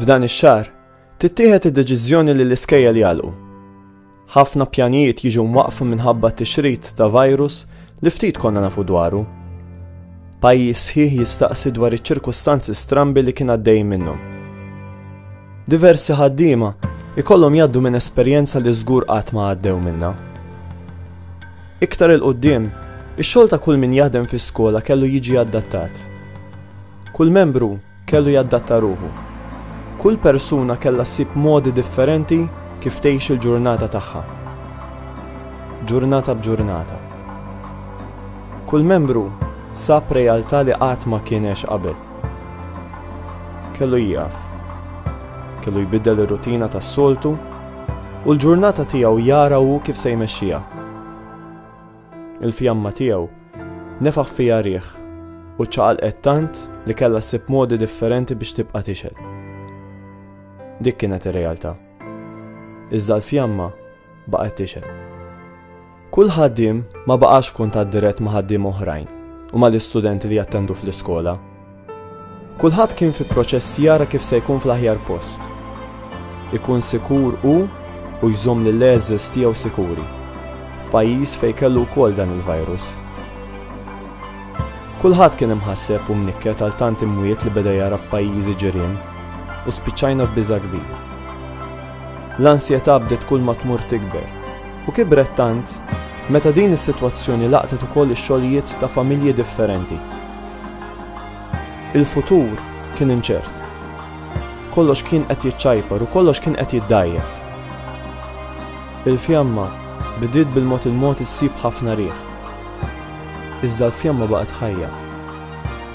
F'dan ix-xahar, tittieħed id-deċiżjoni li l-iskejjel jagħlqu. Ħafna pjanijiet jiġu mwaqqfa minħabba t-tixrid ta' virus li ftit konna nafu dwaru. Pajjiż sħiħ jistaqsi dwar iċ-ċirkustanzi strambi li kien għaddej minnhom. Diversi ħaddiema ikollhom jgħaddu minn esperjenza li żgur qatt ma għaddew minnha. Iktar 'il quddiem, ix-xogħol ta' kull min jaħdem fi skola kellu jiġi adattat. Kull membru kellu jadatta ruħu. Kull persuna kellha ssib modi differenti kif tgħix il-ġurnata tagħha. Ġurnata b'ġurnata. Kull membru sab realtà li qatt ma kien għex qabel. Kellu jieqaf. Kellu jbiddel ir-rutina tas-soltu u l-ġurnata tiegħu jara hu kif se jmexxiha. Il-fjamma tiegħu nefaħ fiha riħ u ċaqalqet tant li kellha ssib modi differenti biex tibqa' tixgħel. Dik kienet ir-realtà. Iżda l-fjamma baqgħet tixgħel. Kull ħaddiem ma baqax f'kuntatt dirett ma' ħaddiema oħrajn u mal-istudenti li jattendu fl-iskola. Kulħadd kien fi proċess jara kif se jkun fl-aħjar post. Ikun sikur hu u jżomm lill-għeżież tiegħu sikuri, f'pajjiż fejn kellu wkoll dan il-virus. Kulħadd kien imħasseb u mnikket għal tant imwiet li beda jara f'pajjiżi ġirien u spiċċajna f'biża' kbir. L-ansjetà bdiet kull ma tmur tikber u kibret tant meta din is-sitwazzjoni laqtet ukoll ix-xogħlijiet ta' familji differenti. Il-futur kien inċert. Kollox kien qed jiċċajpar u kollox kien qed jiddgħajjef. Il-fjamma bdiet bil-mod il-mod issib ħafna riħ. Iżda l-fjamma baqgħet ħajja.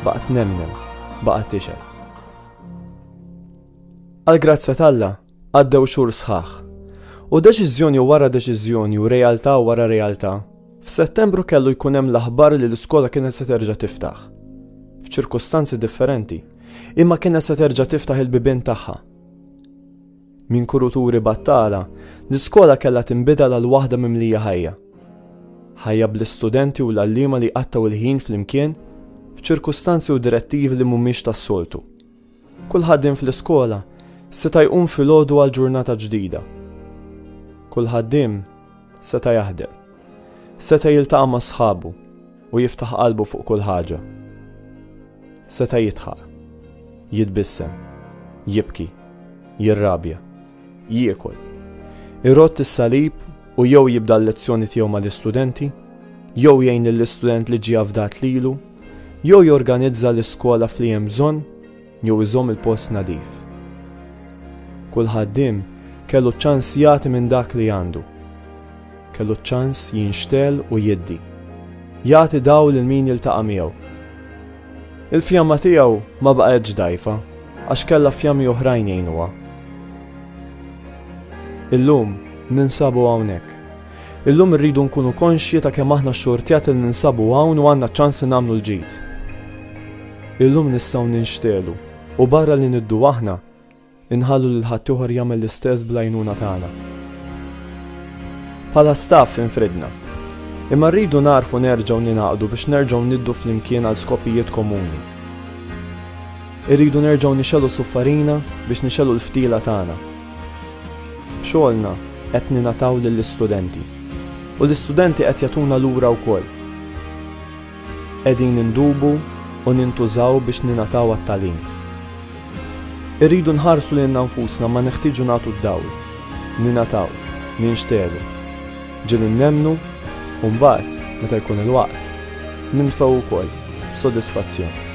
Baqgħet tnemnem, baqgħet tixgħel. Għall-grazzja t'Alla, Għaddew xhur sħaħ. U deċiżjoni wara deċiżjoni u realtà wara realtà, f'Settembru kellu jkun hemm l-aħbar li l-iskola kienet se terġa' tiftaħ. F'ċirkustanzi differenti, imma kienet se terġa' tiftaħ il-bibien tagħha. Minn kuruturi battala, l-iskola kellha tinbidel għal waħda mimlija ħajja. Ħajja bl-istudenti u l-għalliema li jqattgħu l-ħin flimkien f'ċirkustanzi u direttivi li mhumiex tas-soltu. Kull ħaddiem fl-iskola seta' jqum filgħodu għal ġurnata ġdida. Kull ħaddiem seta' jaħdem. Seta' jiltaqa' ma' sħabu u jiftaħ qalbu fuq kull ħaġa. Seta' jidħaq, jitbissem, jibki, jirrabja, jiekol, irodd is-salib u jew jibda l-lezzjoni tiegħu mal-istudenti, jew jgħin lill-istudent li ġie afdat lilu, jew jorganizza l-iskola f'li hemm bżonn jew iżomm il-post nadif. Kull ħaddiem kellu ċ-ċans jagħti minn dak li għandu. Kellu ċ-ċans jinxtegħel u jiddi. Jagħti dawl lil min jiltaqa' miegħu. Il-fjamma tiegħu ma baqgħetx dgħajfa għax kellha fjammi oħrajn jgħinuha. Illum ninsabu hawnhekk. Illum irridu nkunu konxji ta' kemm aħna xxurtjati li ninsabu hawn u għandna ċ-ċans li nagħmlu l-ġid. Illum nistgħu ninxtegħlu u barra li niddu aħna, inħallu lil ħaddieħor jagħmel l-istess bl-għajnuna tagħna. Bħala staff infridna. Imma rridu nagħrfu nerġgħu ningħaqdu biex nerġgħu niddu flimkien għal skopijiet komuni. Irridu nerġgħu nixegħlu suffarina biex nixegħlu l-ftila tagħna. B'xogħolna qed ningħataw lill-istudenti. U l-istudenti qed jagħtuna lura wkoll. Qegħdin indubu u nintużaw biex ningħataw għat-tagħlim. Irridu nħarsu lilna nfusna ma neħtieġu nagħtu d-dawl, ningħataw, ninxtegħlu. Ġieli nemmnu u mbagħad, meta jkun il-waqt, nintfgħu wkoll, b'sodisfazzjon.